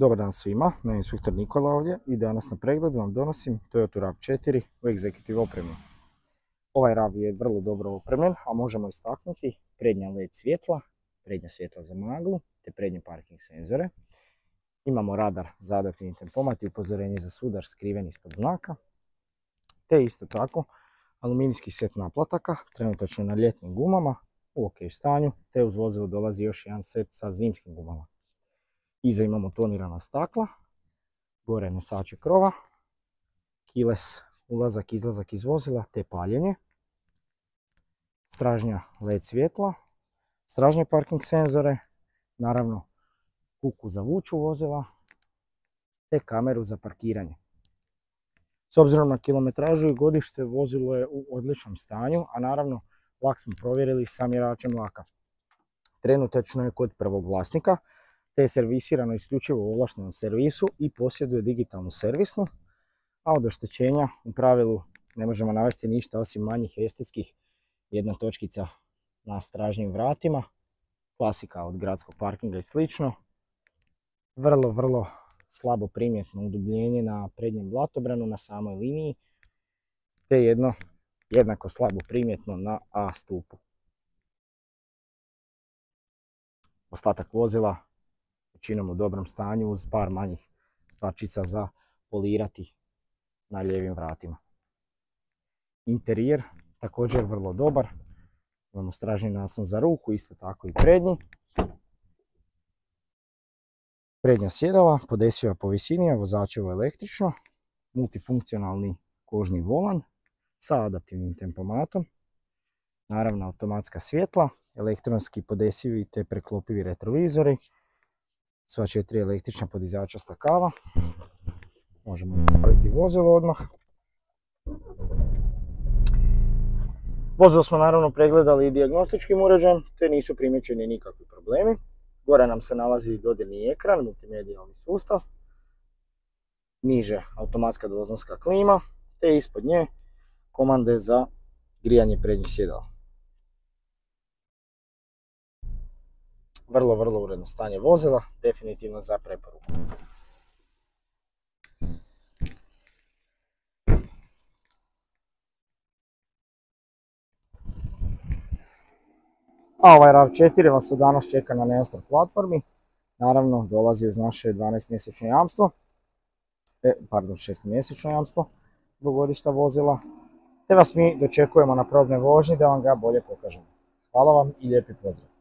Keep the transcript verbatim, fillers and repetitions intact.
Dobar dan svima, ja inspektor Nikola ovdje i danas na pregledu vam donosim Toyota rav četiri u Executive opremi. Ovaj rav je vrlo dobro opremljen, a možemo istaknuti prednja L E D svjetla, prednja svjetla za maglu te prednje parking senzore. Imamo radar za adaptivni tempomat i upozorenje za sudar skriven ispod znaka. Te isto tako aluminijski set naplataka, trenutačno na ljetnim gumama, u ok stanju, te uz vozilo dolazi još jedan set sa zimskim gumama. Iza imamo tonirana stakla, gore nosače krova, keyless ulazak, izlazak iz vozila te paljenje, stražnja L E D svjetla, stražnje parking senzore, naravno kuku za vuču vozila te kameru za parkiranje. S obzirom na kilometražu i godište vozilo je u odličnom stanju, a naravno vlak smo provjerili sa mjeračem vlaka. Trenutačno je kod prvog vlasnika, te je servisirano isključivo u ovlaštenom servisu i posjeduje digitalnu servisnu, a od oštećenja u pravilu ne možemo navesti ništa osim manjih estetskih, jedna točkica na stražnjim vratima, klasika od gradskog parkinga i slično. Vrlo, vrlo slabo primjetno udubljenje na prednjem blatobranu na samoj liniji, te jedno jednako slabo primjetno na A stupu. Ostatak vozila većinom u dobrom stanju uz par manjih stvarčica za polirati na lijevim vratima. Interijer također vrlo dobar, imamo stražnji naslon za ruku, isto tako i prednji. Prednja sjedala, podesiva po visini, a vozačevo električno, multifunkcionalni kožni volan sa adaptivnim tempomatom, naravno automatska svjetla, elektronski podesivi te preklopivi retrovizori, sva četiri električna podizača stakala. Možemo upaliti vozilo odmah. Vozilo smo naravno pregledali i dijagnostičkim uređajem, te nisu primijećeni nikakvi problemi. Gore nam se nalazi dodirni ekran, multimedijalni sustav, niže automatska dvoznska klima, te ispod nje komande za grijanje prednjih sjedala. Vrlo, vrlo uredno stanje vozila, definitivno za preporuku. A ovaj rav četiri vas od danas čeka na Neostar platformi. Naravno, dolazi uz naše dvanaestomjesečno jamstvo, e, pardon, šestomjesečno jamstvo do godišta vozila, te vas mi dočekujemo na probnoj vožnji da vam ga bolje pokažemo. Hvala vam i lijepi pozdrav!